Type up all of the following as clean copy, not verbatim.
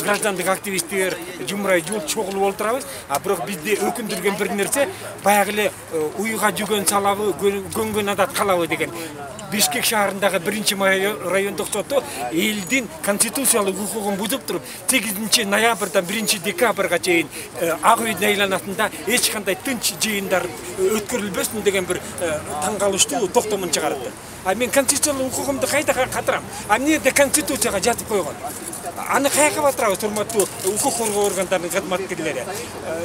граждандык активисттер жумурай жыл чогулуп отурабыз. А бирок бизди өкүндүргөн бир нерсе баягы эле уйга жүгөн салабы, көнгөн адат калабы деген. Бишкек шаарындагы 1-май райондук соту элдин конституциялык укугун бузуп туруп 8-ноябрдан 1-декабрга чейин Ак үйдүн айланасында эч кандай тынч жыйындар өткөрүлбөсүн деген бир таң калыштуу токтомун чыгарып. А мен конституциялык укугумду кайда катырам? А эмне де конституцияга жазып койгон? Аны каяка батырабыз, урматтуу укук коргоо органдарынын кызматкерлери.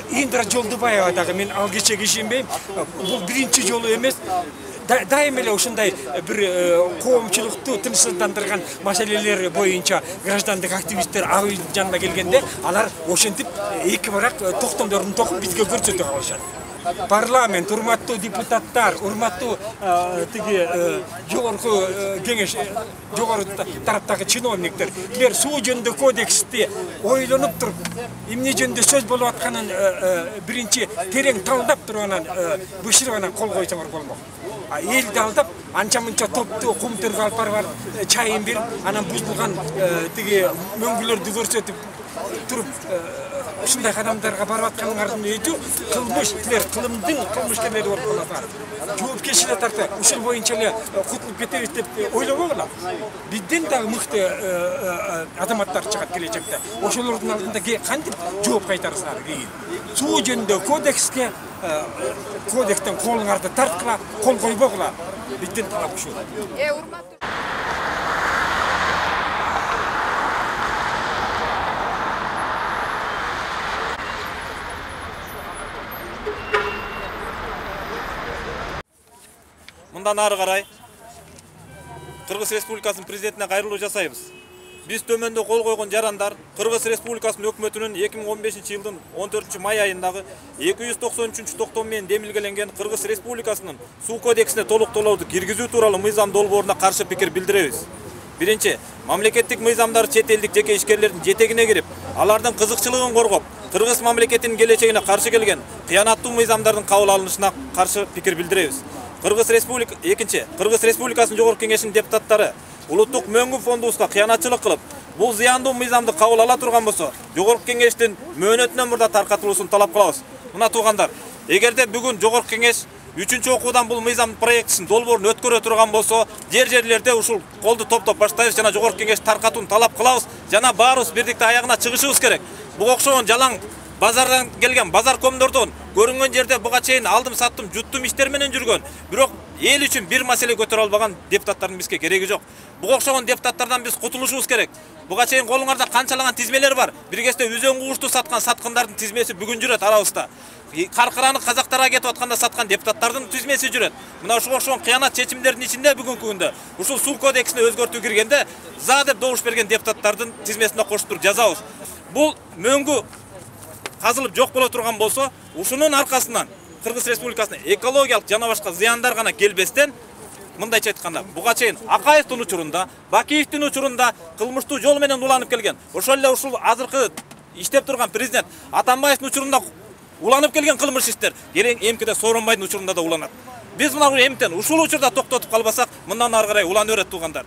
Индира Жолдубаева дагы мен ал кечеге ишенбейм. Бул биринчи жолу эмес. Дайым эле ушундай бир коомчулукту тынчсыздандырган маселелер боюнча граждандык активисттер Ак үйдүн жанына келгенде алар ошентип эки барак токтомдорун токуп бизге көрсөтө калышат. Парламент, урматтуу депутаттар, урматтуу тиги жогорку кеңеш, жогору тараптагы чиновниктер, билер суу жөнүндө кодексти ойлонуп туруп, эмне жөнүндө сөз болуп атканын биринчи терең талдап туруп анан бышырып анан кол койсоңор болмок. Элди алдап, анча-мынча топту кум төргө алып барып, чайын берип, анан бузулган тиги мөңгүлөрдү көрсөтүп туруп, ушундай кадамдарга барып атканыңардын өзү кылмыш, силер кылымдын кылмышкерлери болуп каласыңар. Жоопкерчиликке тартып, ушул боюнча эле кутулуп кетебиз деп ойлобогула. Бизден дагы мыкты азаматтар чыгат келечекте. Ошолордун алдында кантип жооп кайтарсыңар кийин? Суу жөнүндө кодекстен колуңарды тарткыла, кол койбогула. Бизден талап ушул. Мындан ары карай Кыргыз Республикасынын президентине кайрылуу жасайбыз. Биз төмөндө кол койгон жарандар Кыргыз Республикасынын өкмөтүнүн 2015-жылдын 14-май айындагы 293-токтом менен демилгеленген Кыргыз Республикасынын суу кодексине толуктоолорду киргизүү тууралуу мыйзам долбооруна каршы пикир билдиребиз. Биринчи, мамлекеттик мыйзамдар чет элдик жеке ишкерлердин жетегине кирип, алардын кызыкчылыгын коргоп, Кыргыз мамлекетинин келечегине каршы келген кыянаттуу мыйзамдардын кабыл алынышына каршы пикир билдиребиз. Экинчи, Кыргыз Республикасынын жогорку кеңешинин депутаттары улуттук мөңгү фондубузга кыянатчылык кылып, бул зыяндуу мыйзамды кабыл ала турган болсо, жогорку кеңештин мөөнөтүнөн мурда таркатылуусун талап кылабыз. Мына туугандар, эгерде бүгүн жогорку кеңеш 3-окуудан бул мыйзам проектисин долбоорун өткөрө турган болсо, жерлерде ушул колду топтоп баштайбыз жана жогорку кеңеш таркатууну талап кылабыз, жана баарыбыз бирдикте аягына чыгышыбыз керек. Буга окшогон жалаң базардан келген базар комдордон көрүнгөн жерде буга чейин алдым саттым жуттум иштер менен жүргөн, бирок эл үчүн бир маселе көтөрө албаган депутаттардын бизге кереги жок. Буга окшогон депутаттардан биз кутулушубуз керек. Буга чейин колуңарда канчалаган тизмелер бар. Бир кезде үзөң кугушту саткан саткандардын тизмеси бүгүн жүрөт арабызда. Каркыраны казактарга кетип атканда саткан депутаттардын тизмеси жүрөт. Мына ушуга окшогон кыянат чечимдердин ичинде бүгүнкү күндө ушул суу кодексине өзгөртүү киргенде за деп добуш берген депутаттардын тизмесине кошуп туруп жазабыз. Бул мөңгү казылып жок боло турган болсо, ушунун аркасынан Кыргыз Республикасына экологиялык жана башка зыяндар гана келбестен, мындайча айтканда, буга чейин Акаевдин учурунда, Бакиевдин учурунда кылмыштуу жол менен уланып келген. Ошол эле ушул азыркы иштеп турган президент Атамбаевдин учурунда уланып келген кылмыш иштер эмкиде Сооронбайдын учурунда да уланат. Биз мына эмтен ушул учурда токтотуп калбасак, мындан ары карай улана берет туугандар.